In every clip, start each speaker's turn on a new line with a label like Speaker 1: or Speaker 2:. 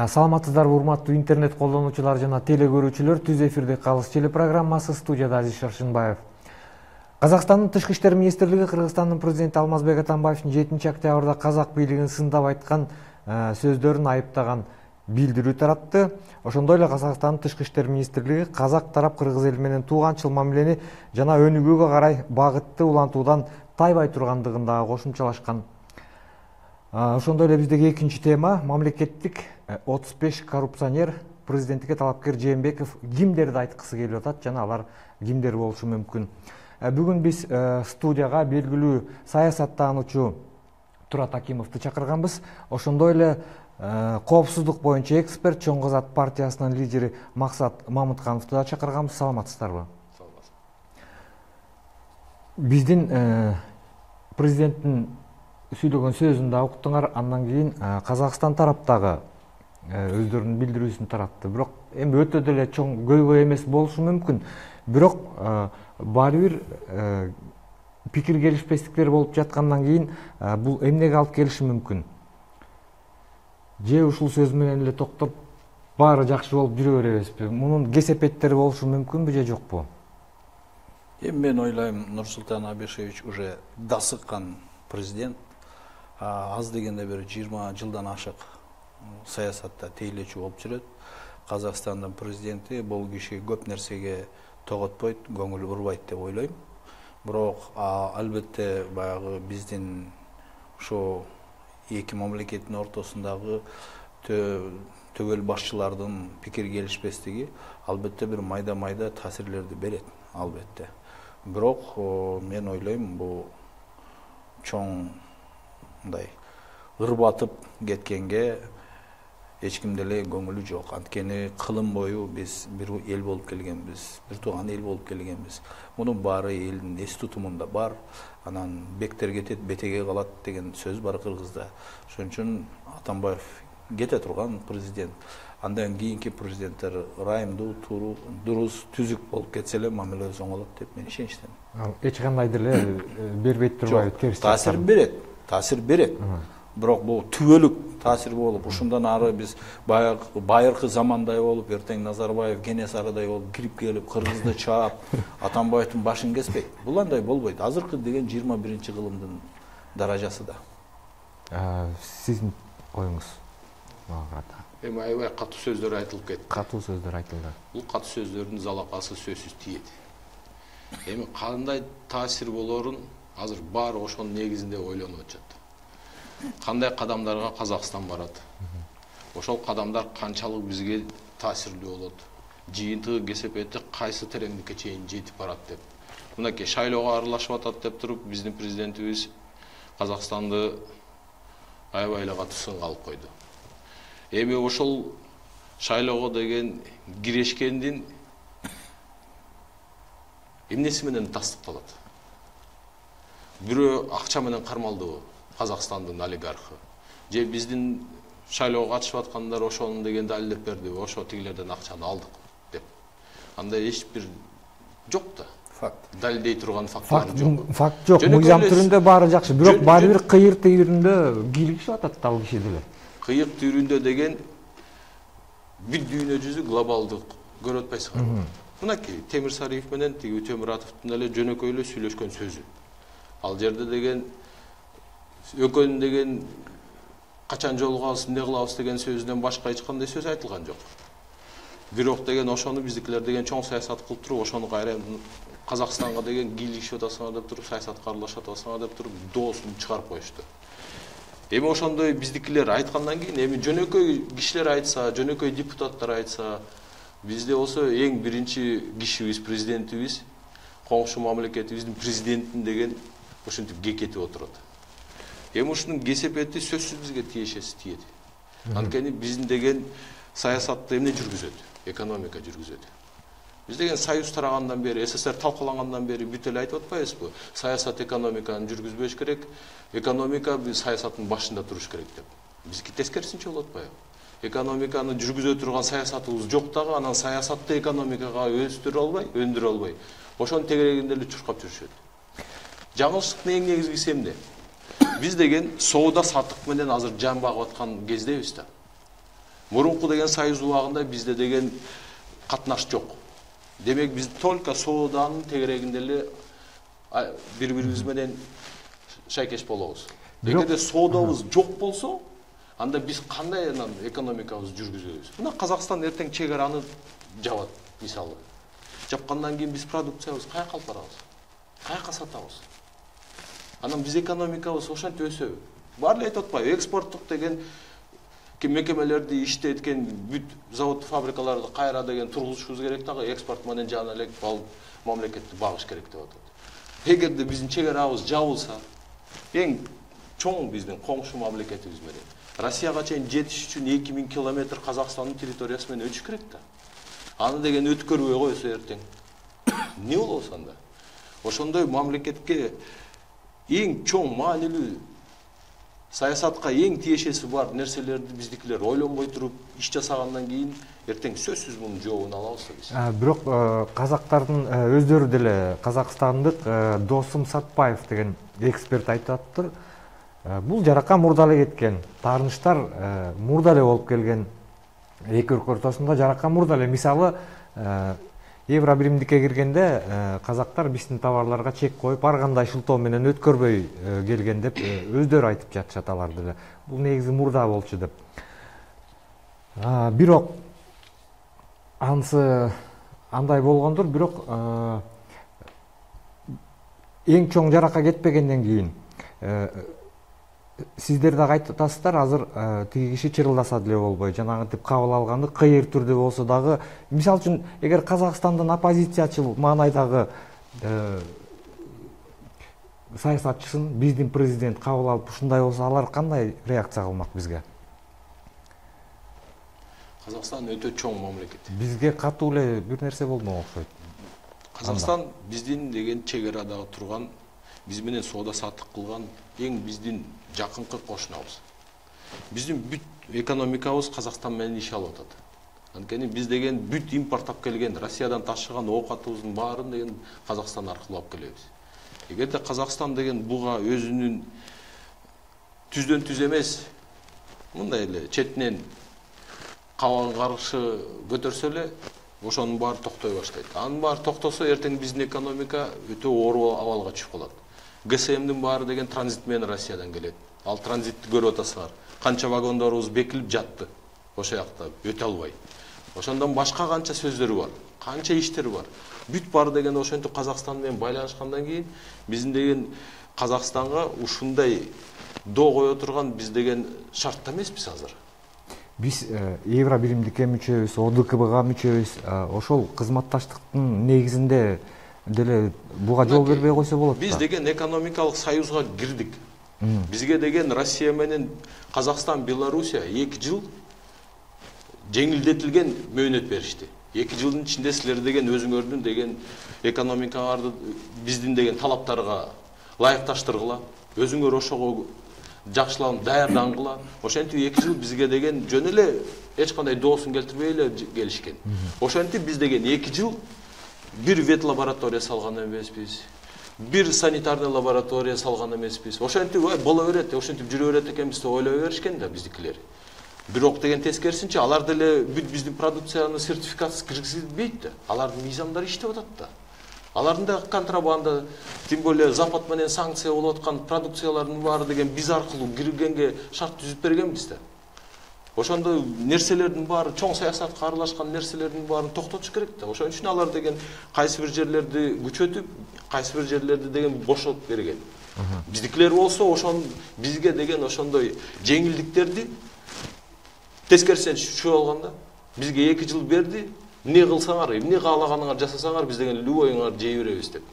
Speaker 1: Саламатсыздарбы урматтуу интернет колдонуучулар жана теле көрүүчүлөр. Түз эфирде Калыс телепрограммасы, студияда Азиз Шаршынбаев. Казакстандын Тышкы иштер министрлиги Кыргызстандын президенти Алмазбек Атамбаевдин 7 октябрда казак бийлигин сындап айткан сөздөрүн айыптаган билдирүү таратты. Ошондой эле Казакстандын Тышкы иштер министрлиги казак тарап кыргыз эли менен тууганчыл мамилени жана өнүгүүгө карай багытты улантуудан тайбай тургандыгын дагы кошумчалашкан. Ошондой эле биздеги экинчи тема мамлекеттик 35 коррупционер президенттикке талапкер Жээнбеков кимдерди айткысы келип атат жана алар кимдер болушу мүмкүн. Бүгүн биз студияга белгилүү саясаттануучу Турат Акимовду чакырганбыз. Ошондой эле коопсуздук боюнча эксперт Чоң Казак партиясынын лидери Максат Мамыткановду да чакырганбыз. Саламатсыздарбы? Биздин президенттин сүйлөгөн сөзүн да уктуңар, андан кийин Казакстан тараптагы өздөрүнүн билдирүүсүн таратты. Бирок эми өтө деле чоң көйгөй эмес болушу мүмкүн. Бирок баары бир пикир келишпестиктер болуп жаткандан кийин бул эмнеге алып келиши мүмкүн? Же ушул сөз менен эле токтоп баары жакшы болуп жүрө беребизби? Мунун кесепеттери болушу мүмкүнбү же жокпу?
Speaker 2: Мен ойлойм, Нурсултан Абишевич уже дасыккан президент. Аз дегенде бир 20 жылдан ашык саясатта тейлечү болуп жүрөт. Казакстандын президенти бул киши көп нерсеге тоготпойт, көңүл бурбайт деп ойлойм. Бирок албетте баягы биздин ошо эки мамлекеттин ортосундагы төгөл башчылардын пикир келишпестиги албетте бир майда таасирлерди берет, албетте. Бирок мен ойлойм, бул чоң мындай ырбатып кеткенге эч кимде эле көңүлү жок. Анткени кылым бою биз бир эл болуп келгенбиз, бир тууган эл болуп келгенбиз. Мунун баары элдин эс тутумунда бар. Анан бектер кетет, бетеге калат деген сөз бар кыргызда. Ошон үчүн Атамбаев кете турган президент. Андан кийинки президенттер ырайымдуу, дурус, түзүк болуп кетсе эле мамилеси оңолот деп мен ишеничтемин.
Speaker 1: Эч кандай деле бербейт турбайбы? Терс
Speaker 2: таасир берет. Бирок бул түбөлүк таасир болуп, ушундан ары биз байыркы замандай болуп, эртең Назарбаев, Кенесарыдай болуп кирип келип, Кыргызды чаап, Атамбаевдин башын кеспейт. Бул андай болбойт. Азыркы деген 21 кылымдын даражасы да.
Speaker 1: Сиздин оюңуз?
Speaker 3: Эми аябай катуу сөздөр айтылып кетти.
Speaker 1: Катуу сөздөр айтылды.
Speaker 3: Бул катуу сөздөрдүн залакасы сөзсүз тиет. Эми кандай таасир болорун азыр баары ошонун негизинде ойлонуп атышат. Кандай кадамдарга Казакстан барат? Ошол кадамдар канчалык бизге таасирлүү болот? Жыйынтыгы кесепети кайсы тереңдикке чейин жетип барат деп. Мынакей шайлоого аралашып атат деп туруп, биздин президентибиз Казакстанды аябай эле катуу сынга алып койду. Эми ошол шайлоого деген кирешкендин эмнеси менен тастыкталат? Бирөө акча менен кармалдыбы? Казакстандын олигархы. Же биздин шайлоого катышып аткандар ошонун деген далилдеп бердиби? Ошо тигилерден акчаны алдык деп. Андай эч бир жок да.
Speaker 2: Факт.
Speaker 3: Далилдей турган факттар жок.
Speaker 1: Факт жок. Мыйзам түрүндө баары жакшы. Бирок баары бир кыйыр түйүрүндө кийлигишип атат ал киши деле.
Speaker 3: Кыйыр түйүрүндө деген бир дүйнө жүзү глобалдык көрүп атпайсыңарбы? Мынакей Темир Сариев менен тиги Өтемуратовдун эле жөнөкөй эле сүйлөшкөн сөзү. Ал жерде деген экөөнүн деген качан жолугабыз, эмне кылабыз деген сөзүнөн башка эч кандай сөз айтылган жок. Бирок деген ошону биздикилер деген чоң саясат кылып туруп, ошону кайра Казакстанга деген кийлигишип атасыңар деп туруп, саясатка аралашып атасыңар деп туруп, доосун чыгарып коюшту. Эми ошондой биздикилер айткандан кийин, эми жөнөкөй кишилер айтса, жөнөкөй депутаттар айтса, бизде болсо эң биринчи кишибиз, президентибиз, коңшу мамлекетибиздин президентин деген ушинтип кекетип отурат. Эми ушунун кесепети сөзсүз бизге тиешеси тиет. Анткени биздин деген саясатты эмне жүргүзөт? Экономика жүргүзөт. Биз деген союз тарагандан бери, СССР талкалангандан бери бүт эле айтып атпайбызбы? Саясат экономиканы жүргүзбөш керек, экономика саясаттын башында туруш керек деп. Бизки тескерисинче болуп атпайбы? Экономиканы жүргүзө турган саясатыбыз жок дагы, анан саясатты экономикага өндүрө албай, ошонун тегерегинде эле чуркап жүрүшөт. Жаңылыштыктын эң негизгиси эмне? Биз деген соода саттык менен азыр жан багып аткан кездебиз да. Мурунку деген союз убагында бизде деген катнаш жок. Демек биз только сооданын тегерегинде эле бири-бирибиз менен шайкеш болобуз. Эгерде соодабыз жок болсо, анда биз кандай анан экономикабызды жүргүзөбүз? Мына Казакстан эртең чек араны жабат, мисалы. Жапкандан кийин биз продукциябызды каяка алып барабыз? Каяка сатабыз? Анан биз экономикабыз ошентип өсөбү? Баары эле айтып атпайбы, экспорттук деген мекемелерди иштеткен бүт завод фабрикаларды кайра деген тургузушубуз керек дагы, экспорт менен жана элек мамлекетти багыш керек деп атат. Эгерде биздин чек арабыз жабылса, эң чоң биздин коңшу мамлекетибиз менен Россияга чейин жетиш үчүн 2000 километр Казакстандын территориясы менен өтүш керек да. Аны деген өткөрбөй койсо эртең эмне болобуз анда? Ошондой мамлекетке эң чоң маанилүү саясатка эң тиешеси бар нерселерди биздикилер ойлонбой туруп иш жасагандан кийин эртең сөзсүз мунун жообун алабыз да биз.
Speaker 1: Бирок казактардын өздөрү деле казакстандык Досум Сатпаев деген эксперт айтып атыптыр. Бул жарака мурда эле кеткен. Таарынычтар мурда эле болуп келген. Эки өлкө ортосунда жарака мурда эле. Мисалы, Евро биримдикке киргенде казактар биздин товарларга чек коюп, ар кандай шылтоо менен өткөрбөй келген деп өздөрү айтып жатышат алар деле. Бул негизи мурда болчу деп. Бирок анысы андай болгондур, бирок эң чоң жарака кетпегенден кийин сиздер дагы айтып атасыздар, азыр тиги киши чырылдаса деле болбой, жанагынтип кабыл алганды кыйыр түрдө болсо дагы, мисалы үчүн, эгер Казакстандын оппозициячыл маанайдагы саясатчысын биздин президент кабыл алып ушундай болсо, алар кандай реакция кылмак бизге?
Speaker 3: Казакстан өтө чоң мамлекет.
Speaker 1: Бизге катуу эле бир нерсе болмок окшойт.
Speaker 3: Казакстан биздин деген чек арадагы турган, биз менен соода саттык кылган эң биздин жакынкы кошунабыз. Биздин бүт экономикабыз Казакстан менен иш алып атат. Анткени биз деген бүт импорттап келген, Россиядан ташыган оокатыбыздын баарын деген Казакстан аркылуу алып келебиз. Эгерде Казакстан деген буга өзүнүн түздөн түз эмес, мындай эле четинен кабагын каршы көтөрсө эле, ошонун баары токтой баштайт. Анын баары токтосо, эртең биздин экономика өтө оор абалга түшүп калат. ГСМдин баары деген транзит менен Россиядан келет. Ал транзитти көрүп атасыңар. Канча вагондорубуз бекилип жатты ошо жакта, өтө албай. Ошондон башка канча сөздөрү бар, канча иштери бар. Бүт баары деген ошентип Казакстан менен байланышкандан кийин биздин деген Казакстанга ушундай доо кое турган биз деген шартта эмеспиз азыр.
Speaker 1: Биз Евро биримдикке мүчөбүз, ОДКБга мүчөбүз. Ошол кызматташтыктын негизинде деле буга жол бербей койсо болот.
Speaker 3: Биз деген экономикалык союзга кирдик. Бизге деген Россия менен Казакстан, Белоруссия 2 жыл жеңилдетилген мөөнөт беришти. 2 жылдын ичинде силер деген өзүңөрдүн деген экономикаңарды биздин деген талаптарга ылайыкташтыргыла, өзүңөр ошого жакшыланып даярдангыла. Ошентип 2 жыл бизге деген жөн эле эч кандай доосун келтирбей эле келишкен. Ошентип биз деген 2 жыл бир вет лаборатория салган эмеспиз. Бир санитарный лаборатория салган эмеспиз. Ошентип боло берет, ошентип жүрө берет экенбиз деп ойлой беришкен да биздикилер. Бирок деген тескерисинче алар деле бүт биздин продукцияны сертификатсыз киргизилбейт да. Алардын мыйзамдары иштеп атат да. Алардын да контрабанда, тем более Запад менен санкция болуп аткан продукциялардын баары деген биз аркылуу киргенге шарт түзүп бергенбиз да. Ошондой нерселердин баары, чоң саясатка аралашкан нерселердин баарын токтотуш керек да. Ошон үчүн алар деген кайсы бир жерлерди күчөтүп, кайсы бир жерлерди деген бошотуп берген. Биздикилер болсо ошон бизге деген ошондой жеңилдиктерди тескерисинен түшүп алганда, бизге 2 жыл берди, эмне кылсаңар, эмне каалаганыңар жасасаңар, биз деген любойуңар жей беребиз деп.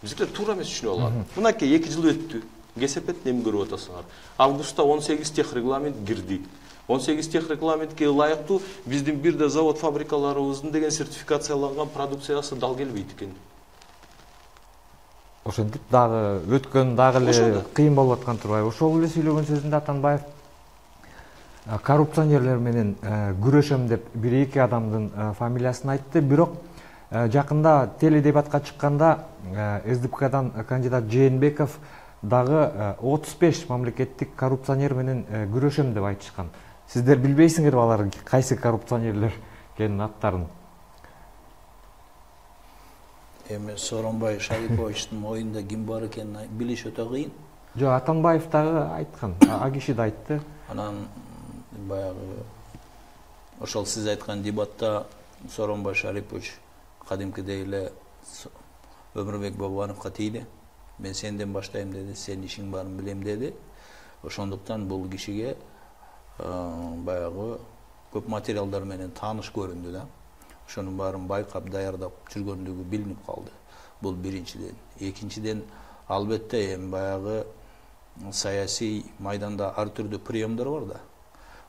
Speaker 3: Биздикилер туура эмес түшүнүп алган. Мынакей 2 жыл өттү. Кесепет эми көрүп атасыңар. Августта 18 тех регламент кирди. 18 тех регламентке ылайыктуу биздин бир да завод фабрикаларыбыздын деген сертификацияланган продукциясы дал келбейт экен.
Speaker 1: Ошентип дагы өткөн дагы эле кыйын болуп аткан турбайбы? Ошол эле сүйлөгөн сөзүндө Атанбаев коррупционерлер менен күрөшөм деп 1-2 адамдын фамилиясын айтты. Бирок жакында теледебатка чыкканда СДПКдан кандидат Жээнбеков дагы 35 мамлекеттик коррупционер менен күрөшөм деп айтышкан. Сиздер билбейсиңерби алар кайсы коррупционерлер экенин аттарын?
Speaker 2: Эми Сооронбай Шариповичтин оюнда ким бар экенин билиш өтө кыйын.
Speaker 1: Жок, Атамбаев дагы айткан, а киши да айтты.
Speaker 2: Анан баягы ошол сиз айткан дебатта Сооронбай Шарипович кадимкидей эле Өмүрбек Бабановго тийди. Мен сенден баштайм деди, сен ишиң барын билем деди. Ошондуктан бул кишиге баягы көп материалдар менен тааныш көрүндү да. Ошонун баарын байкап, даярдап жүргөндүгү билинип калды. Бул биринчиден. Экинчиден, албетте эми баягы саясий майданда ар түрдүү приемдор бар да.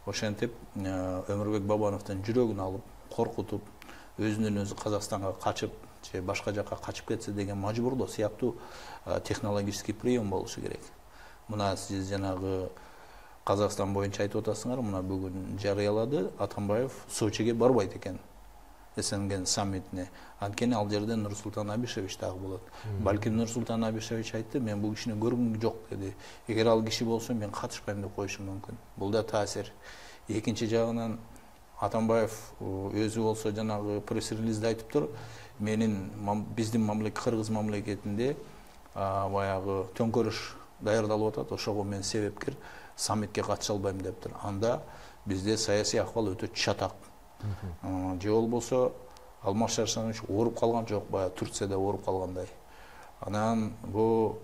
Speaker 2: Ошентип Өмүрбек Бабановдун жүрөгүн алып, коркутуп, өзүнөн өзү Казакстанга качып, же башка жакка качып кетсе деген мажбурлоо сыяктуу технологический прием болушу керек. Мына сиз жанагы Казакстан боюнча айтып атасыңар, мына бүгүн жарыялады, Атамбаев Сочиге барбайт экен. СНГ саммитине. Анткени ал жерде Нурсултан Абишевич дагы болот. Балким Нурсултан Абишевич айтты, мен бул кишини көргүм жок деди. Эгер ал киши болсо мен катышпайм деп коюшум мүмкүн. Бул да таасир. Экинчи жагынан Атамбаев өзү болсо жанагы пресс-релизде айтыптыр, менин биздин мамлекет Кыргыз мамлекетинде баягы төңкөрүш даярдалып атат, ошого мен себепкер, саммитке катыша албайм дептир. Анда бизде саясий акыбал өтө чатак. Же болбосо Алмаз Шаршанович ооруп калган жок, баягы Турцияда ооруп калгандай. Анан бул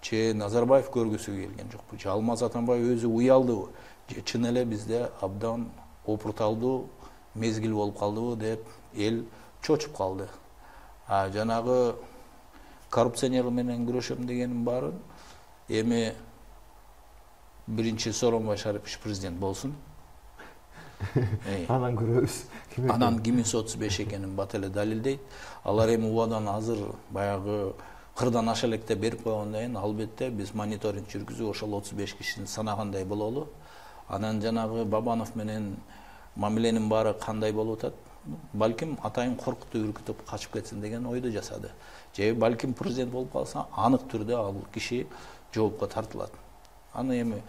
Speaker 2: че Назарбаев көргүсү келген жокпу, же Алмаз Атамбаев өзү уялдыбы, же чын эле бизде абдан опурталдуу мезгил болуп калдыбы деп эл чочуп калды. Жанагы коррупционер менен күрөшөм дегенин баарын эми биринчи Сооронбай Шарипович президент болсун.
Speaker 1: Анан көрөбүз.
Speaker 2: Анан 235 экенин бат эле далилдейт. Алар эми убадан азыр баягы кырдан аша электе берип койгондон кийин албетте биз мониторинг жүргүзүп ошол 35 кишини санагандай бололу. Анан жанагы Бабанов менен мамиленин баары кандай болуп атат? Балким атайын коркутуп, үркүтүп качып кетсин деген ойду жасады. Же балким президент болуп калса, анык түрдө ал киши жоопко тартылат. Аны эми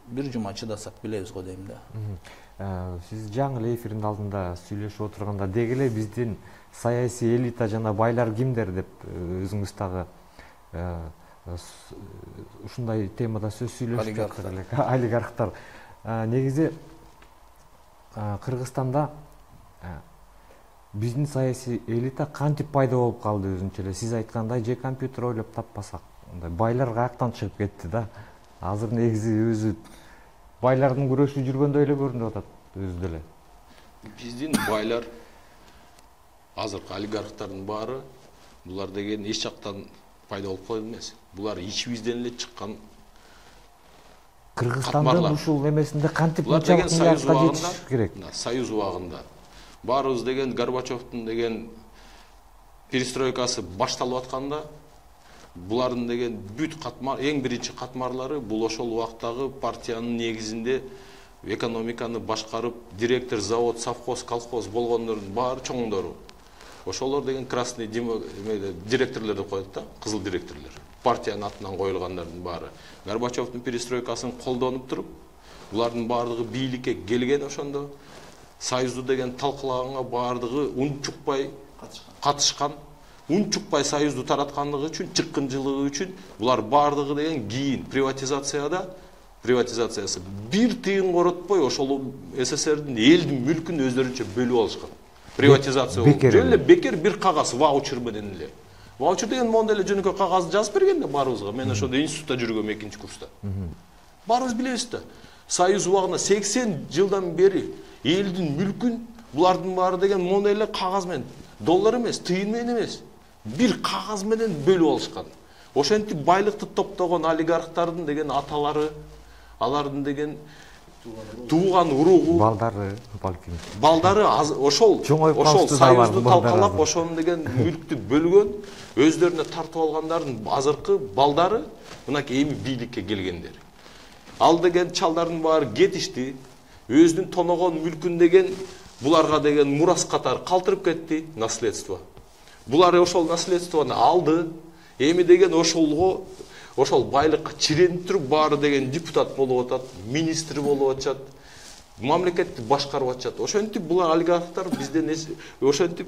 Speaker 2: бир жума чыдасак билебиз го дейм да.
Speaker 1: Сиз жаңы эле эфирдин алдында сүйлөшүп отурганда деги эле биздин саясий элита жана байлар кимдер деп өзүңүз дагы ушундай темада сөз сүйлөшүп жаттык элек. Олигархтар. Негизи Кыргызстанда биздин саясий элита кантип пайда болуп калды өзүнчө эле? Сиз айткандай же компьютер ойлоп таппасак, байлар каяктан чыгып кетти да. Азыр негизи өзү байлардын күрөшүп жүргөндөй эле көрүнүп атат өзү деле.
Speaker 3: Биздин байлар азыркы олигархтардын баары булар деген эч жактан пайда болуп калган эмес. Булар ичибизден эле чыккан
Speaker 1: Кыргызстандын ушул эмесинде кантип мынчалык миллиардка жетиш керек?
Speaker 3: Союз убагында баарыбыз деген Горбачевдун деген перестройкасы башталып атканда булардын деген бүт катмар, эң биринчи катмарлары бул ошол убактагы партиянын негизинде экономиканы башкарып, директор, завод, совхоз, колхоз болгондордун баары чоңдору. Ошолор деген красный директорлор деп коет да, кызыл директорлор. Партиянын атынан коюлгандардын баары. Горбачевдун перестройкасын колдонуп туруп, булардын баардыгы бийликке келген ошондо. Союзду деген талкуулаганга баардыгы унчукпай катышкан. Унчукпай союзду тараткандыгы үчүн, чыккынчылыгы үчүн булар баардыгы деген кийин приватизациясы бир тыйын коротпой ошол СССРдин элдин мүлкүн өздөрүнчө бөлүп алышкан. Приватизация болуп. Жөн эле бекер бир кагаз ваучер менен эле. Ваучер деген мондой эле жөнөкөй кагазды жазып берген да баарыбызга. Мен ошондо институтта жүргөм 2-курста. Баарыбыз билебиз да. Союз убагында 80 жылдан бери элдин мүлкүн булардын баары деген мондой эле кагаз менен, доллар эмес, тыйын менен эмес, бир кагаз менен бөлүп алышкан. Ошентип байлыкты топтогон олигархтардын деген аталары, алардын деген тууган уругу, балдары ошол союзду талкалап, ошону деген мүлктү бөлгөн, өздөрүнө тартып алгандардын азыркы балдары мынакей эми бийликке келгендер. Ал деген чалдардын баары кетишти, өзүнүн тоногон мүлкүн деген буларга деген мурас катары калтырып кетти, наследство. Булар ошол наследствону алды, эми деген ошол байлыкка чиренип туруп баары деген депутат болуп атат, министр болуп атышат. мамлекетти башкарып атышат. Ошентип булар олигархтар бизден ошентип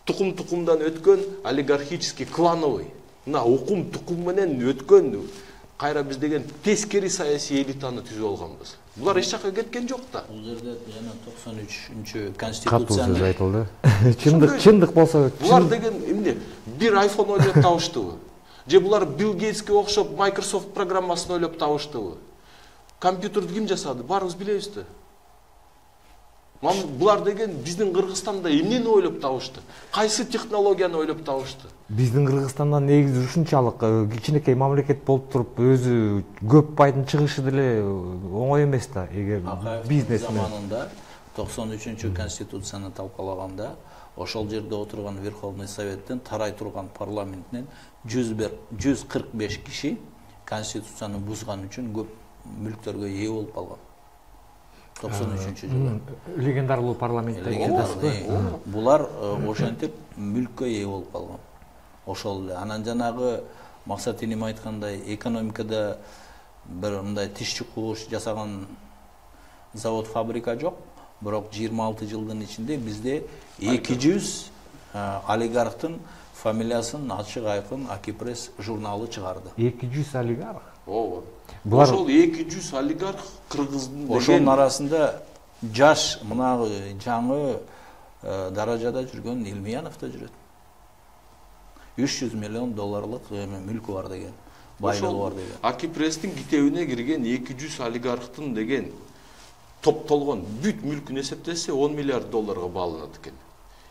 Speaker 3: тукумдан өткөн олигархический клановый. Мына укум тукум менен өткөн кайра биз деген тескери саясий элитаны түзүп алганбыз. Булар эч жака кеткен жок да.
Speaker 2: Бул жерде жана 93-конституцияны
Speaker 1: катуу сөз айтылды. Чындык болсо
Speaker 3: булар деген эмне? Бир iPhone ойлоп табыштыбы? Же булар Билл Гейтске окшоп Microsoft программасын ойлоп табыштыбы? Компьютерди ким жасады? Баарыбыз билебиз да. Булар деген биздин Кыргызстанда эмнени ойлоп табышты? Кайсы технологияны ойлоп табышты?
Speaker 1: Биздин Кыргызстанда негизи ушунчалык кичинекей мамлекет болуп туруп өзү көп пайдын чыгышы деле оңой эмес да. Эгер бизнес
Speaker 2: заманында 93-конституцияны талкалаганда ошол жерде отурган Верховный Советтен тарай турган парламенттен 145 киши конституцияны бузган үчүн көп мүлктөргө ээ болуп калган. 93-жылы.
Speaker 1: Легендарлуу парламентте.
Speaker 2: Булар ошентип мүлккө ээ болуп калган. Ошол эле. Анан жанагы Максат энем айткандай экономикада бир мындай тиш чукуш жасаган завод, фабрика жок. Бирок 26 жылдын ичинде бизде 200 олигархтын фамилиясын ачык айкын Акипресс журналы чыгарды.
Speaker 1: 200 олигарх?
Speaker 3: Ооба. Ошол 200 олигарх Кыргыздын деген
Speaker 2: ошонун арасында жаш мына жаңы даражада жүргөн Илмиянов да жүрөт. 300 миллион долларлык мүлкү бар деген, байлыгы бар деген.
Speaker 3: Акипресстин китебине кирген 200 олигархтын деген топтолгон бүт мүлкүн эсептесе 10 миллиард долларга бааланат экен.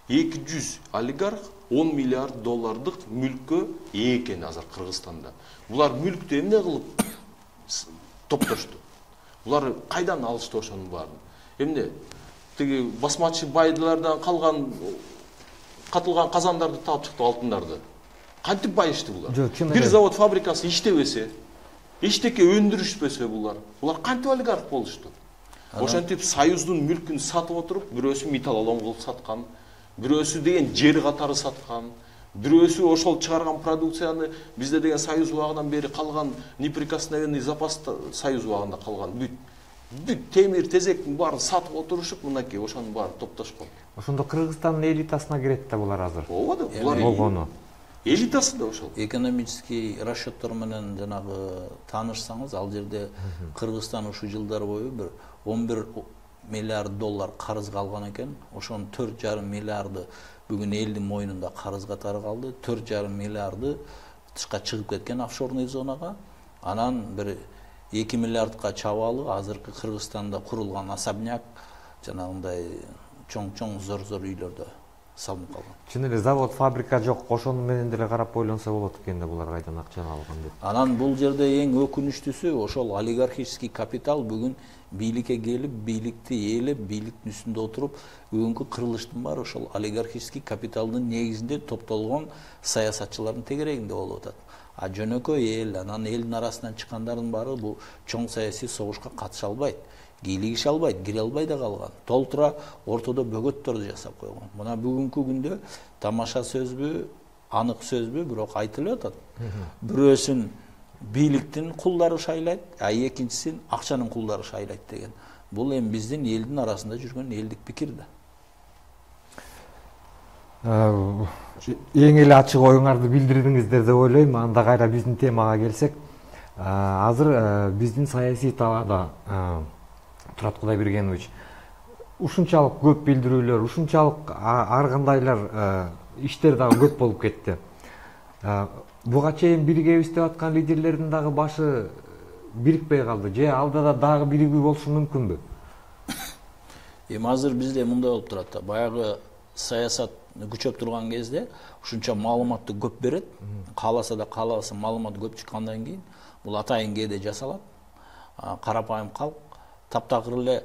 Speaker 3: 200 олигарх 10 миллиард доллардык мүлккө ээ экен азыр Кыргызстанда. Булар мүлктү эмне кылып топтошту? Булар кайдан алышты ошонун баарын? Эмне? Тиги басмачы байдылардан калган катылган казандарды таап чыкты, алтындарды. Кантип байышты булар? Бир завод фабрикасы иштебесе, эчтеке өндүрүшпөсө булар кантип олигарх болушту? Ошентип Союздун мүлкүн сатып отуруп, бирөөсү металлолом кылып саткан, бирөөсү деген жер катары саткан, бирөөсү ошол чыгарган продукцияны бизде деген Союз убагынан бери калган неприкосновенный запас Союз убагында калган бүт темир тезектин баарын сатып отурушуп, мынакей ошонун баары топтошкон.
Speaker 1: Ошондо Кыргызстандын элитасына кирет да булар азыр.
Speaker 3: Ооба да, булар
Speaker 1: болгону.
Speaker 3: Элитасы да ошол.
Speaker 2: Экономический расчеттор менен жанагы таанышсаңыз, ал жерде Кыргызстан ушул жылдар бою бир 11 миллиард доллар карызга алган экен. Ошонун 4,5 миллиарды бүгүн элдин мойнунда карыз катары калды. 4,5 миллиарды тышка чыгып кеткен офшорный зонага. Анан бир 2 миллиардка чабалы азыркы Кыргызстанда курулган особняк жанагындай чоң зор үйлөрдө салынып калган.
Speaker 1: Чын эле завод, фабрика жок, ошону менен деле карап ойлонсо болот экен да булар кайдан акчаны алган деп.
Speaker 2: Анан бул жерде эң өкүнүчтүүсү ошол олигархический капитал бүгүн бийликке келип, бийликти ээлеп, бийликтин үстүндө отуруп, бүгүнкү кырылыштын баары ошол олигархический капиталдын негизинде топтолгон саясатчылардын тегерегинде болуп атат. А жөнөкөй эл, анан элдин арасынан чыккандардын баары бул чоң саясий согушка катыша албайт, кийлигише албайт, кире албай да калган. Толтура ортодо бөгөттөрдү жасап койгон. Мына бүгүнкү күндө тамаша сөзбү, анык сөзбү, бирок айтылып атат. Бирөөсүн бийликтин кулдары шайлайт, а экинчисин акчанын кулдары шайлайт деген. Бул эми биздин элдин арасында жүргөн элдик пикир да.
Speaker 1: Эң эле ачык оюңарды билдирдиңиздер деп ойлойм. Анда кайра биздин темага келсек, азыр биздин саясий талаада Турат Кудайбергенович, ушунчалык көп билдирүүлөр, ушунчалык ар кандайлар иштер дагы көп болуп кетти. Буга чейин биригебиз деп аткан лидерлердин дагы башы бирикпей калды. Же алдыда дагы биригүү болушу мүмкүнбү?
Speaker 2: Эми азыр бизде мындай болуп турат да. Баягы саясат күчөп турган кезде ушунча маалыматты көп берет. Кааласа да каалабаса маалымат көп чыккандан кийин бул атайын кээде жасалат. Карапайым калк таптакыр эле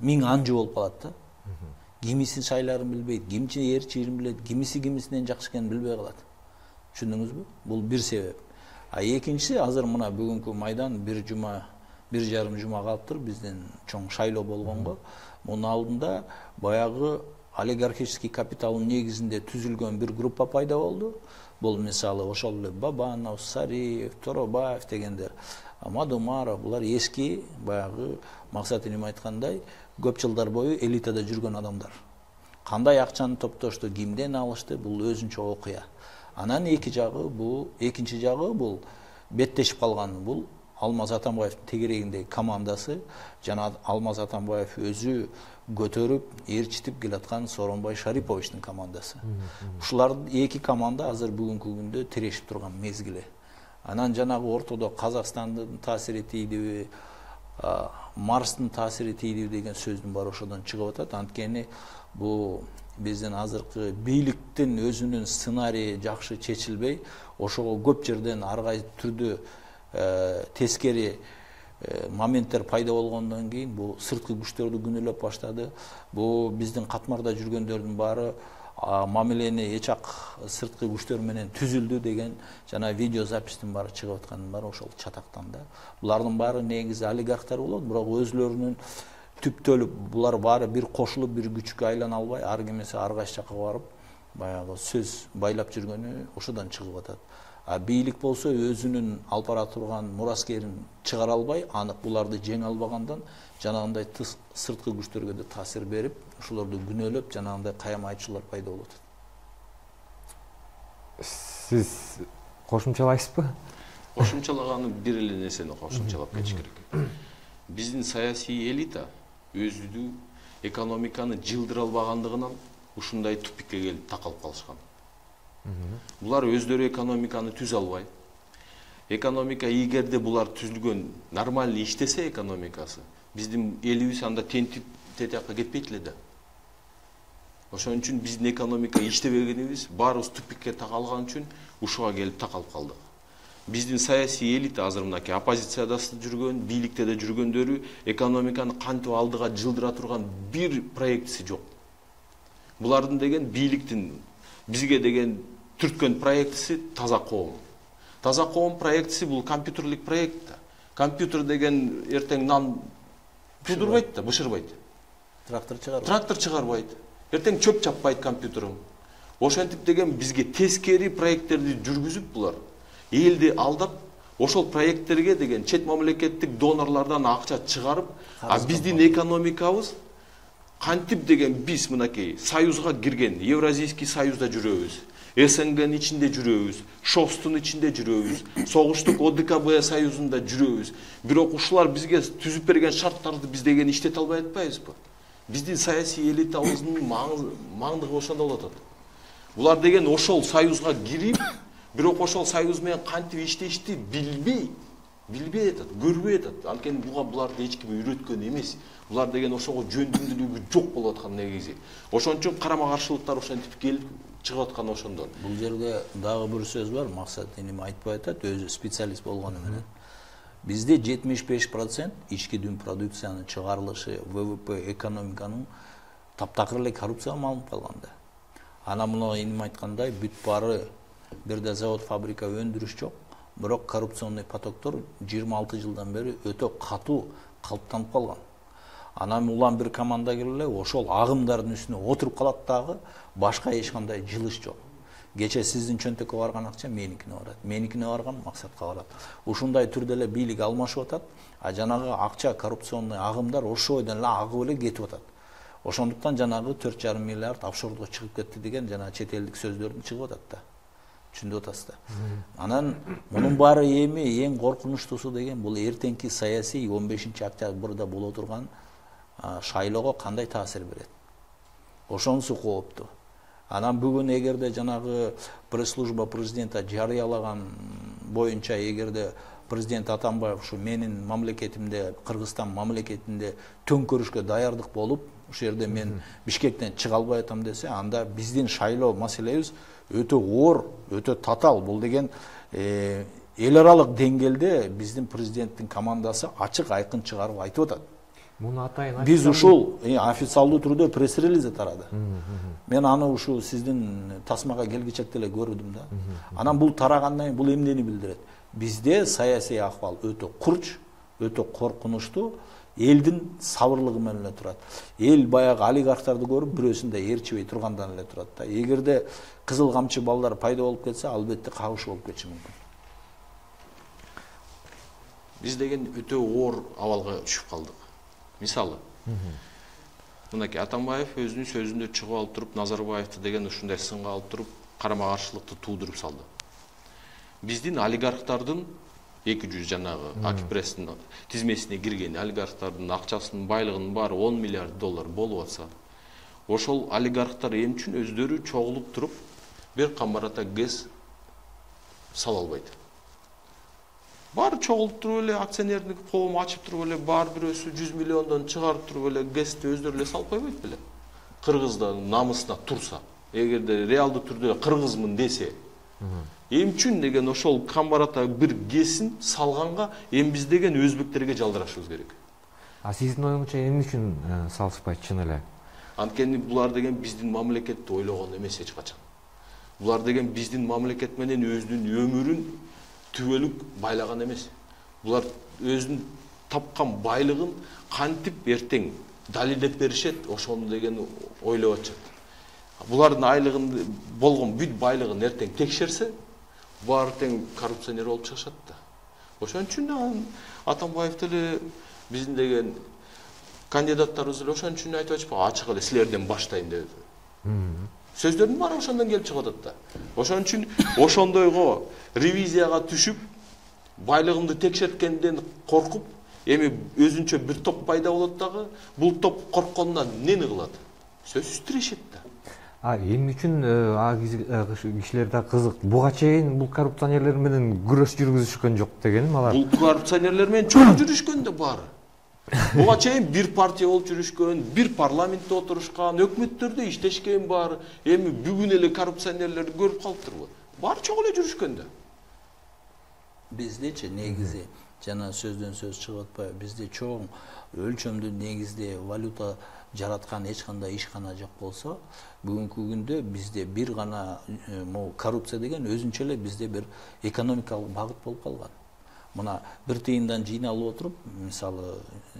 Speaker 2: миң анжы болуп калат да. Кимисин шайларын билбейт, кимчи ээрчирин билет, кимиси кимисинен жакшы экенин билбей калат. Түшүндүңүзбү? Бул бир себеп. А экинчиси азыр мына бүгүнкү майдан бир жарым жума калыптыр биздин чоң шайлоо болгонго. Мунун алдында баягы олигархический капиталдын негизинде түзүлгөн бир группа пайда болду. Бул мисалы ошол эле Бабанов, Сариев, Торобаев дегендер, Мадумаров, булар эски баягы Максат Иним айткандай көп жылдар бою элитада жүргөн адамдар. Кандай акчаны топтошту, кимден алышты, бул өзүнчө окуя. Анан экинчи жагы бул беттешип калган бул Алмаз Атамбаевдин тегерегиндеги командасы, жана Алмаз Атамбаев өзү көтөрүп, ээрчитип келаткан Сооронбай Шариповичтин командасы. Ушулардын эки команда азыр бүгүнкү күндө тирешип турган мезгили. Анан жанагы ортодо Казакстандын таасири тийдиби, Марстын таасири тийдиби деген сөздүн баары ошодон чыгып атат. Анткени бул биздин азыркы бийликтин өзүнүн сценарийи жакшы чечилбей, ошого көп жерден ар кайсы түрдө тескери моменттер пайда болгондон кийин бул сырткы күчтөрдү күнөөлөп баштады. Бул биздин катмарда жүргөндөрдүн баары мамилени эч ак сырткы күчтөр менен түзүлдү деген жана видео запистин баары чыгып аткандын баары ошол чатактан да. Булардын баары негизи олигархтар болот, бирок өзүлөрүнүн түптөлүп булар баары бир кошулуп бир күчкө айлана албай, ар кимиси ар кайсы жакка барып баягы сөз байлап жүргөнү ошодон чыгып атат. Бийлик болсо өзүнүн алып бара турган мураскерин чыгара албай, анык буларды жеңе албагандан жанагындай сырткы күчтөргө да таасир берип, ошолорду күнөөлөп, жанагындай каяма айтчулар пайда болуп атат.
Speaker 1: Сиз кошумчалайсызбы?
Speaker 3: Кошумчалаганы бир эле нерсени кошумчалап кетиш керек. Биздин саясий элита өзү экономиканы жылдыра албагандыгынан ушундай тупикке келип такалып калышкан. Булар өздөрү экономиканы түзө албай. Экономика эгерде булар түзүлгөн нормальный иштесе экономикасы, биздин элибиз анда тентип тетиякка кетпейт эле да. Ошон үчүн биздин экономика иштебегенибиз баарыбыз тупикке такалган үчүн ушуга келип такалып калдык. Биздин саясий элита азыр мынакей оппозицияда жүргөн, бийликте да жүргөндөрү экономиканы кантип алдыга жылдыра турган бир проектиси жок. Булардын деген бийликтин бизге деген түрткөн проектиси таза коом. Таза коом проектиси бул компьютерлик проект да. Компьютер деген эртең нан тудурбайт да, бышырбайт. Трактор чыгарбайт. Эртең чөп чаппайт компьютериң. Ошентип деген бизге тескери проекттерди жүргүзүп булар элди алдап, ошол проекттерге деген чет мамлекеттик донорлордон акча чыгарып, биздин экономикабыз кантип деген биз мынакей союзга кирген, Евразийский союзда жүрөбүз, СНГнын ичинде жүрөбүз, ШОСтун ичинде жүрөбүз, согуштук ОДКБ союзунда жүрөбүз. Бирок ушулар бизге түзүп берген шарттарды биз деген иштете албай атпайбызбы? Биздин саясий элитабыздын маңдыгы ошондо болот. Булар деген ошол союзга кирип, бирок ошол союз менен кантип иштешти билбей атат, көрбөй атат. Анткени буларды эч ким үйрөткөн эмес. Булар деген ошого жөндөмдүүлүгү жок болуп аткан негизи. Ошон үчүн карама каршылыктар ошентип келип чыгып аткан ошондон.
Speaker 2: Бул жерде дагы бир сөз бар, Максат Иним айтпай атат, өзү специалист болгону менен. Бизде 75% ички дүң продукциянын чыгарылышы, ВВП, экономиканын таптакыр эле коррупцияга малынып калганда. Анан муну Иним айткандай бүт баары бирде завод, фабрика, өндүрүш жок. Бирок коррупционный потоктор 26 жылдан бери өтө катуу калыптанып калган. Анан улам бир команда келе ошол агымдардын үстүнө отуруп калат дагы, башка эч кандай жылыш жок. Кече сиздин чөнтөккө барган акча меникине барат, меникине барган Максатка барат. Ушундай түрдө эле бийлик алмашып атат, жанагы акча коррупционный агымдар ошол бойдон эле агып эле кетип атат. Ошондуктан жанагы 4,5 миллиард офшордо чыгып кетти деген жана чет элдик сөздөрдүн чыгып атат да. Түшүндүп атасыздар. Анан мунун баары эми эң коркунучтуусу деген бул эртеңки саясий 15-октябрда боло турган шайлоого кандай таасир берет. Ошонусу кооптуу. Анан бүгүн эгерде жанагы пресс-служба президента жарыялаган боюнча эгерде президент Атамбаев ушу менин мамлекетимде, Кыргызстан мамлекетинде төңкөрүшкө даярдык болуп, ушул жерде мен Бишкектен чыга албай атам десе, анда биздин шайлоо маселебиз өтө оор, өтө татаал. Бул деген эл аралык деңгээлде биздин президенттин командасы ачык айкын чыгарып айтып атат.
Speaker 1: Муну атайын
Speaker 2: биз ушул официалдуу түрдө пресс-релиз тарады. Мен аны ушул сиздин тасмага келгичекте эле көрдүм да. Анан бул тарагандан кийин бул эмнени билдирет? Бизде саясий акыбал өтө курч, өтө коркунучтуу элдин сабырлыгы менен эле турат. Эл баягы олигархтарды көрүп бирөөсүн да ээрчибей тургандан эле турат да. Эгерде кызыл камчы балдар пайда болуп кетсе, албетте кагыш болуп кетиши мүмкүн.
Speaker 3: Биз деген өтө оор абалга түшүп калдык. Мисалы, мынакей Атамбаев өзүнүн сөзүндө чыгып алып туруп, Назарбаевди деген ушундай сынга алып туруп, карама-каршылыкты туудуруп салды. Биздин олигархтардын 200 жанагы Акипресстин тизмесине кирген олигархтардын акчасынын байлыгынын баары 10 миллиард доллар болуп атса, ошол олигархтар эмне үчүн өздөрү чогулуп туруп бир камбарата ГЭС сала албайт? Баары чогулуп туруп эле акционердик коом ачып туруп эле баары бирөөсү 100 миллиондон чыгарып туруп эле ГЭСти өздөрү эле салып койбойт беле? Кыргыздын намысына турса, эгерде реалдуу түрдө кыргызмын десе, эмне үчүн деген ошол камбарата бир ГЭСин салганга эми биз деген өзбектерге жалдырашыбыз керек.
Speaker 1: А сиздин оюңузча эмне үчүн салышпайт чын эле?
Speaker 3: Анткени булар деген биздин мамлекетти ойлогон эмес эч качан. Булар деген биздин мамлекет менен өзүнүн өмүрүн түбөлүк байлаган эмес. Булар өзүнүн тапкан байлыгын кантип эртең далилдеп беришет, ошону деген ойлоп атышат. Булардын айлыгын болгон бүт байлыгын эртең текшерсе, баары тең коррупционер болуп чыгышат да. Ошон үчүн Атамбаев деле биздин деген кандидаттарыбыз эле ошон үчүн айтып атышпайбы, ачык эле силерден баштайм деп. Сөздөрдүн баары ошондон келип чыгып атат да. Ошон үчүн ошондойго ревизияга түшүп, байлыгымды текшерткенден коркуп, эми өзүнчө бир топ пайда болот дагы, бул топ коркконунан эмнени кылат? Сөзсүз тирешет да.
Speaker 1: Эмне үчүн кишилер да кызык. Буга чейин бул коррупционерлер менен күрөш жүргүзүшкөн жок дегеним алар.
Speaker 3: Бул коррупционерлер менен чогуу жүрүшкөн да баары. Буга чейин бир партия болуп жүрүшкөн, бир парламентте отурушкан, өкмөттөрдө иштешкен баары. Эми бүгүн эле коррупционерлерди көрүп калыптырбы? Баары чогуу эле жүрүшкөн да.
Speaker 2: Биздечи негизи жана сөздөн сөз чыгып атпайбы? Бизде чоң өлчөмдүү негизде валюта жараткан эч кандай ишкана жок болсо, бүгүнкү күндө бизде бир гана коррупция деген өзүнчө эле бизде бир экономикалык багыт болуп калган. Мына бир тыйындан жыйналып отуруп, мисалы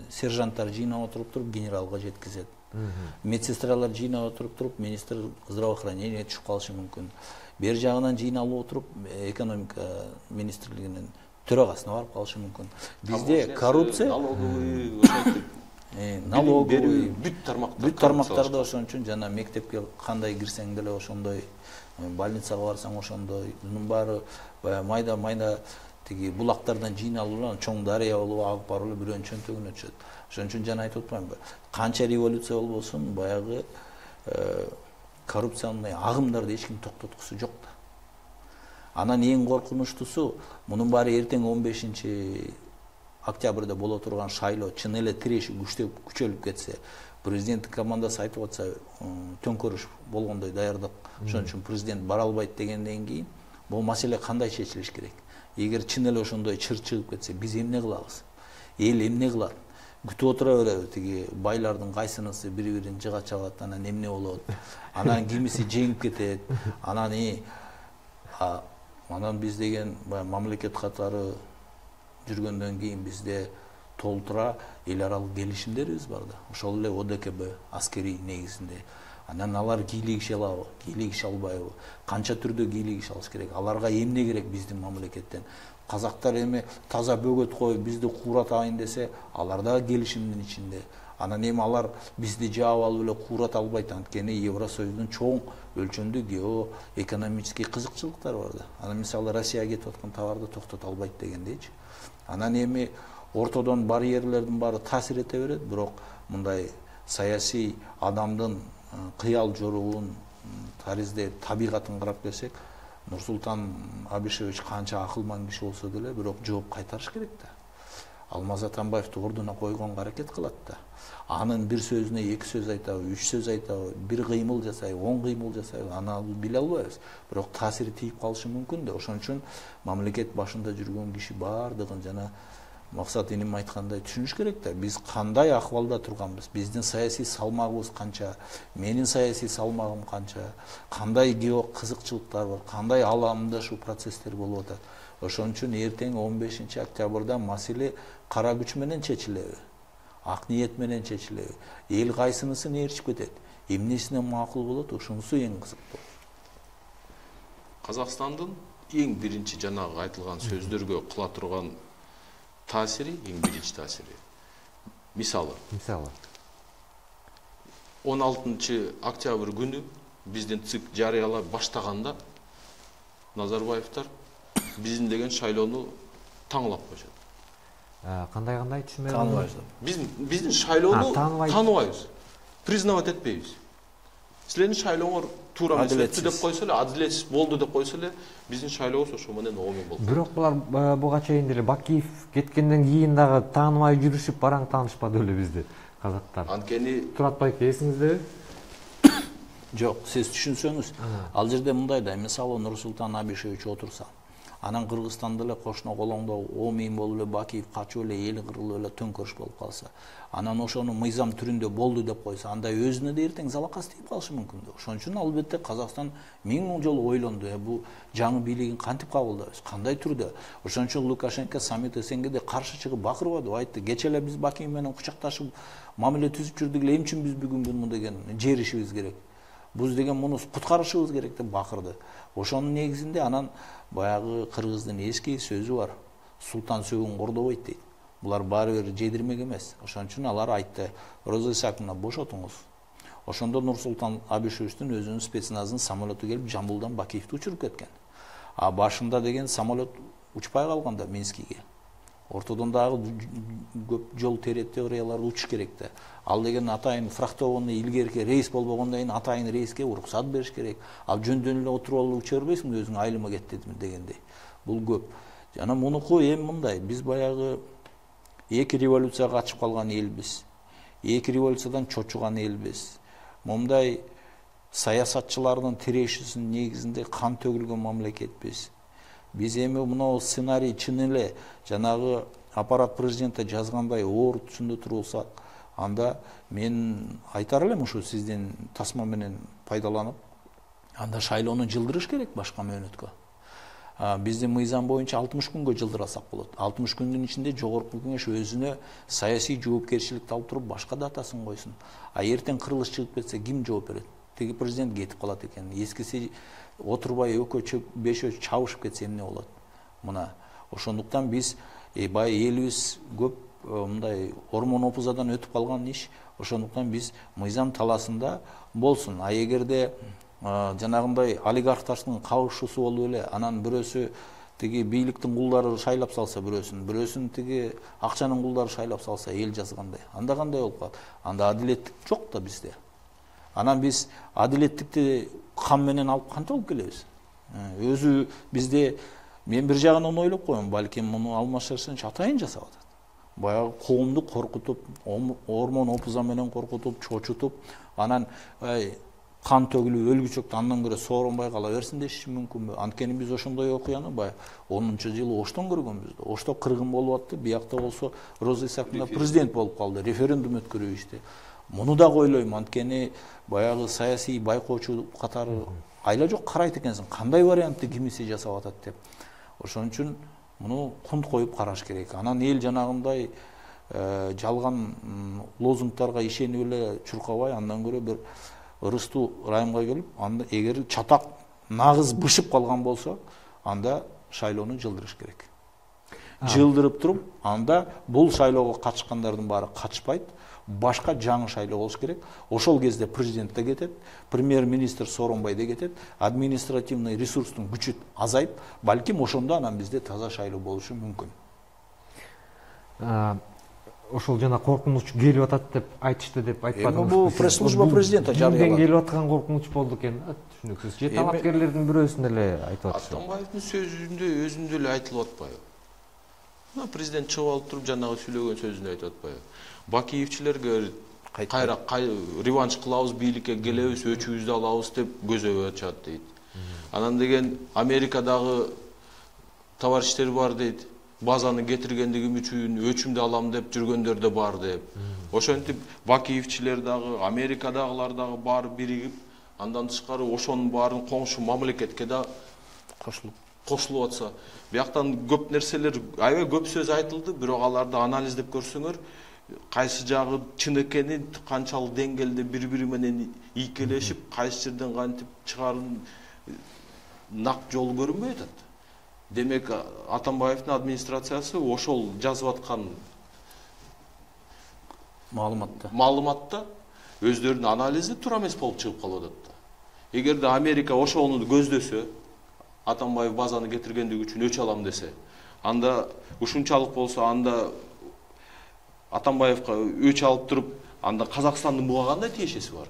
Speaker 2: сержанттар жыйнап отуруп генералга жеткизет. Медсестралар жыйнап отуруп министр здравоохранения түшүп калышы мүмкүн. Бер жагынан жыйналып отуруп экономика министрлигинин төрагасына барып калышы мүмкүн. Бизде коррупция налоговый бүт тармактарда ошон үчүн жана мектепке кандай кирсең деле ошондой, больницага барсаң ошондой, мунун баары майда тиги булактардан жыйналып чоң дарыя болуп агып барып эле бирөөнүн чөнтөгүнө түшөт. Ошон үчүн жана айтып атпаймынбы? Канча революция болбосун, баягы коррупционный агымдарды эч ким токтоткусу жок да. Анан эң коркунучтусу, мунун баары эртең 15 октябрда боло турган шайлоо чын эле тиреши күчөлүп кетсе, президенттик командасы айтып атса, төңкөрүш болгондой даярдык, ошон үчүн президент бара албайт дегенден кийин, бул маселе кандай чечилиш керек? Эгер чын эле ошондой чыр чыгып кетсе, биз эмне кылабыз? Эл эмне кылат? Күтүп отура береби, тиги байлардын кайсынысы бири-бирин жыга чабат, анан эмне болот? Анан кимиси жеңип кетет. Анан биз деген мамлекет катары жүргөндөн кийин бизде толтура эл аралык келишимдерибиз бар да. Ошол эле ОДКБ аскерий негизинде. Анан алар кийлигише алабы, кийлигише албайбы? Канча түрдө кийлигише алыш керек? Аларга эмне керек биздин мамлекеттен? Казактар эми таза бөгөт коюп бизди кууратайын десе, алар да келишимдин ичинде. Анан эми алар бизди жаап алып эле куурата албайт, анткени Евросоюздун чоң өлчөмдүү геоэкономический кызыкчылыктары бар да. Анан мисалы Россияга кетип аткан товарды токтото албайт дегендейчи. Анан эми ортодон барьерлердин баары таасир эте берет, бирок мындай саясий адамдын кыял жоруун, таризде табигатын карап келсек, Нурсултан Абишевич канча акылман киши болсо деле, бирок жооп кайтарыш керек да. Алмаз Атамбаевди ордуна койгонго аракет кылат да. Анын бир сөзүнө 2 сөз айтабы, 3 сөз айтабы, бир кыймыл жасайбы, 10 кыймыл жасайбы, аны биле албайбыз. Бирок таасири тийип калышы мүмкүн да. Ошон үчүн мамлекет башында жүргөн киши баардыгын жана Максат иним айткандай түшүнүш керек да. Биз кандай акыбалда турганбыз, биздин саясий салмагыбыз канча, менин саясий салмагым канча, кандай гео кызыкчылыктар бар, кандай аламдашуу процесстер болуп атат. Ошон үчүн эртең 15 октябрда маселе кара күч менен чечилеби? ак ниет менен чечилеби, эл кайсынысын ээрчип кетет, эмнесине макул болот, ошонусу эң кызыктуу.
Speaker 3: Казакстандын эң биринчи жанагы айтылган сөздөргө кыла турган таасири, эң биринчи таасири. Мисалы 16 октябрь күнү биздин ЦИК жарыялап баштаганда Назарбаевтар биздин деген шайлоону таңлап коюшат.
Speaker 1: Кандай түшүнбөй
Speaker 2: Тааныбайбыз.
Speaker 3: Биздин шайлоону тааныбайбыз. Признавать этпейбиз. Силердин шайлооңор туура эмес деп койсо эле, адилетсиз болду деп койсо эле, биздин шайлообуз ошо менен оңой болду.
Speaker 1: Бирок булар буга чейин деле Бакиев кеткенден кийин дагы тааныбай жүрүшүп бараң таанышпады беле бизди казактар.
Speaker 3: Анткени
Speaker 1: Турат байке эсиңиздеби?
Speaker 2: Жок, сиз түшүнсөңүз, ал жерде мындай да, мисалы Нурсултан Абишевич отурса, анан Кыргызстанда эле кошуна колоңдо Омин болуп эле Бакиев качып эле эл кырылып эле төңкөрүш болуп калса, анан ошону мыйзам түрүндө болду деп койсо, анда өзүнө да эртең залакас тийип калышы мүмкүн да. Ошон үчүн албетте Казакстан миң жолу ойлонду, бул жаңы бийлигин кантип кабылдайбыз, кандай түрдө. Ошон үчүн Лукашенко саммит СНГде каршы чыгып бакырбады, айтты, кече эле биз Бакиев менен кучакташып мамиле түзүп жүрдүк эле, эмне үчүн биз бүгүн буну деген жеришибиз керек. Буз деген муну куткарышыбыз керек деп бакырды. Ошонун негизинде анан баягы кыргыздын эски сөзү бар. Султан сөөгүн кордобойт дейт. Булар баары бир жедирмек эмес. Ошон үчүн алар айтты, Роза Исаковна бошотуңуз. Ошондо Нурсултан Абишевичтин өзүнүн спецназынын самолету келип Жамбылдан Бакиевди учуруп кеткен. А башында деген самолет учпай калганда Минскиге. Ортодон дагы көп жол территорияларды учуш керек да. Ал деген атайын фрахтованный илгерки рейс болбогондон кийин атайын рейске уруксат бериш керек. Ал жөндөн эле отуруп алып уча бербейсиң, өзүң айылыма кет дедим дегендей. Бул көп. Жана мунуку эми мындай, биз баягы эки революцияга катышып калган элбиз. Эки революциядан чочуган элбиз. Мындай саясатчылардын тирешисинин негизинде кан төгүлгөн мамлекетпиз. Биз эми мына сценарий чын эле жанагы аппарат президента жазгандай оор түшүндө турулсак, анда мен айтар элем ушу сиздин тасма менен пайдаланып, анда шайлоону жылдырыш керек башка мөөнөткө. Биздин мыйзам боюнча 60 күнгө жылдырасак болот. 60 күндүн ичинде жогорку кеңеш өзүнө саясий жоопкерчиликти алып туруп башка датасын койсун. Эртең кырылыш чыгып кетсе ким жооп берет? Теги президент кетип калат экен. Эскиси отурбай экөө бешөө чабышып кетсе эмне болот? Мына ошондуктан биз бай элибиз көп мындай ормон опузадан өтүп калган иш. Ошондуктан биз мыйзам таласында болсун. А эгерде жанагындай олигархтардын кабышуусу болуп эле, анан бирөөсү тиги бийликтин кулдары шайлап салса бирөөсүн тиги акчанын кулдары шайлап салса, эл жазгандай. Анда кандай болуп калат? Анда адилеттик жок да бизде. Анан биз адилеттикти кам менен алып кантип алып келебиз? Өзү бизде мен бир жагынан ойлоп коем, балким муну Алмаз Шарсенович атайын жасап атат. Баягы коомду коркутуп, ормон опуза менен коркутуп, чочутуп, анан кан төгүлүп өлгүчөктү андан көрө сооронбай кала берсин дешиши мүмкүнбү? Анткени биз ошондой окуяны баягы 10-жылы Оштон көргөнбүз. Ошто кыргын болуп атты, биякта болсо Роза Исаковна президент болуп калды, референдум өткөрүп ишти. Муну да ойлойм, анткени баягы саясий байкоочу катары айла жок карайт экенсиң, кандай вариантты кимиси жасап атат деп. Ошон үчүн муну кунт коюп караш керек. Анан эл жанагындай жалган лозунгтарга ишенип эле чуркабай, андан көрө бир ырыстуу райымга келип, анда эгер чатак нагыз бышып калган болсо, анда шайлоону жылдырыш керек. Жылдырып туруп, анда бул шайлоого катышкандардын баары катышпайт, башка жаңы шайлоо болуш керек. Ошол кезде президент да кетет, премьер-министр Сооронбай да кетет, административный ресурстун күчү азайып, балким ошондо анан бизде таза шайлоо болушу мүмкүн.
Speaker 1: Ошол жана коркунуч келип атат деп айтышты деп айтпадыңыз.
Speaker 2: Бул пресс-служба президента жарыялады.
Speaker 1: Келип аткан коркунуч болду экен, түшүнүксүз. Же талапкерлердин бирөөсүн эле айтып атышты.
Speaker 3: Атамбаевдин сөзүндө өзүндө эле айтылып атпайбы? Президент чыгып алып туруп жанагы сүйлөгөн сөзүндө айтып атпайбы? Бакиевчилерге кайра реванш кылабыз, бийликке келебиз, өчүбүздү алабыз деп көзөбө ачат дейт. Анан деген Америкадагы товарищтер бар дейт. Базаны кетиргендигим үчүн өчүмдү алам деп жүргөндөр да бар деп. Ошентип Бакиевчилер дагы, Америкадагылар дагы баары биригип, андан тышкары ошонун баарын коңшу мамлекетке да кошулуп атса, бияктан көп нерселер, аябай көп сөз айтылды, бирок аларды анализдеп көрсөңөр, кайсы жагы чын экенин, канчалык деңгээлде бири менен ийкелешип, кайсы жерден кантип чыгарын нак жол көрүнбөй атат. Демек Атамбаевдин администрациясы ошол жазып аткан маалыматта өздөрүнүн анализи туура эмес болуп чыгып калып атат. Эгерде Америка ошону көздөсө, Атамбаев базаны кетиргендиги үчүн өч алам десе, анда ушунчалык болсо, анда Атамбаевка өч алып туруп, анда Казакстандын буга кандай тиешеси бар?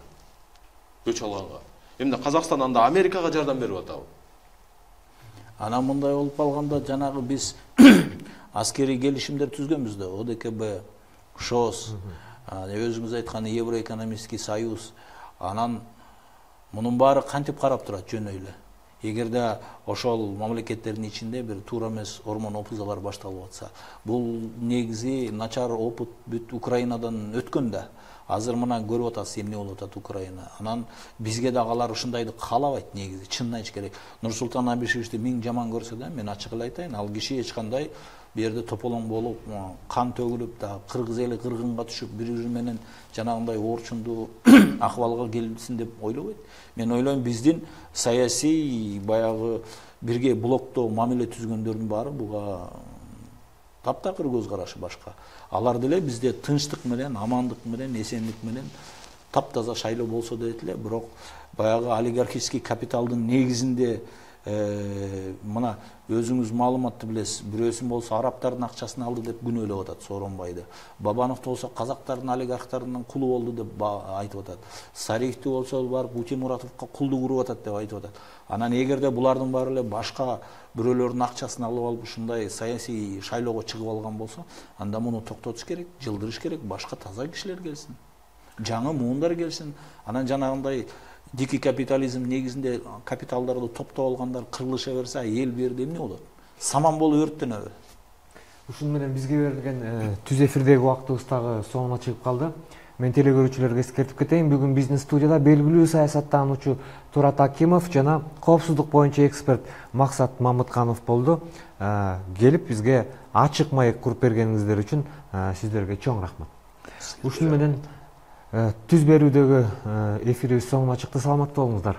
Speaker 3: Өч алганга. Эмне Казакстан анда Америкага жардам берип атабы?
Speaker 2: Анан мындай болуп калганда, жанагы биз аскерий келишимдер түзгөнбүз да, ОДКБ, ШОС, өзүңүз айткан Евроэкономический союз. Анан мунун баары кантип карап турат жөн эле. Эгерде ошол мамлекеттердин ичинде бир туура эмес ормон опузалар башталып атса, бул негизи начар опыт бүт Украинадан өткөн да. Азыр мына көрүп атасыз эмне болуп атат Украина. Анан бизге да алар ушундайды каалабайт негизи, чынын айтыш керек. Нурсултан Абишевичти миң жаман көрсө да, мен ачык эле айтайын, ал киши эч кандай бу жерде тополоң болуп, кан төгүлүп да, кыргыз эли кыргынга түшүп, бири менен жанагындай орчундуу акыбалга келсин деп ойлобойт. Мен ойлойм, биздин саясий баягы бирге блоктоо мамиле түзгөндөрдүн баары буга таптакыр көз карашы башка. Алар деле бизде тынчтык менен, амандык менен, эсендик менен таптаза шайлоо болсо дейт эле, бирок баягы олигархический капиталдын негизинде мына өзүңүз маалыматты билесиз, бирөөсүн болсо арабтардын акчасын алды деп күнөөлөп атат Сооронбайды. Бабанов болсо казактардын олигархтарынын кулу болду деп айтып атат. Сариевти болсо барып Утемуратовго кулдук уруп атат деп айтып атат. Анан эгерде булардын баары эле башка бирөөлөрдүн акчасын алып алып ушундай саясий шайлоого чыгып алган болсо, анда муну токтотуш керек, жылдырыш керек, башка таза кишилер келсин. Жаңы муундар келсин. Анан жанагындай дикий капитализм негизинде капиталдарды топтоп алгандар кырылыша берсе, эл бу жерде эмне болот? Саман болуп өрттөнөбү?
Speaker 1: Ушун менен бизге берилген түз эфирдеги убактыбыз дагы соңуна чыгып калды. Мен телекөрүүчүлөргө эскертип кетейин, бүгүн биздин студияда белгилүү саясаттануучу Турат Акимов жана коопсуздук боюнча эксперт Максат Мамытканов болду. Келип бизге ачык маек куруп бергениңиздер үчүн сиздерге чоң рахмат. Ушун менен түз берүүдөгү эфирибиз соңуна чыкты. Саламаттуу болуңуздар.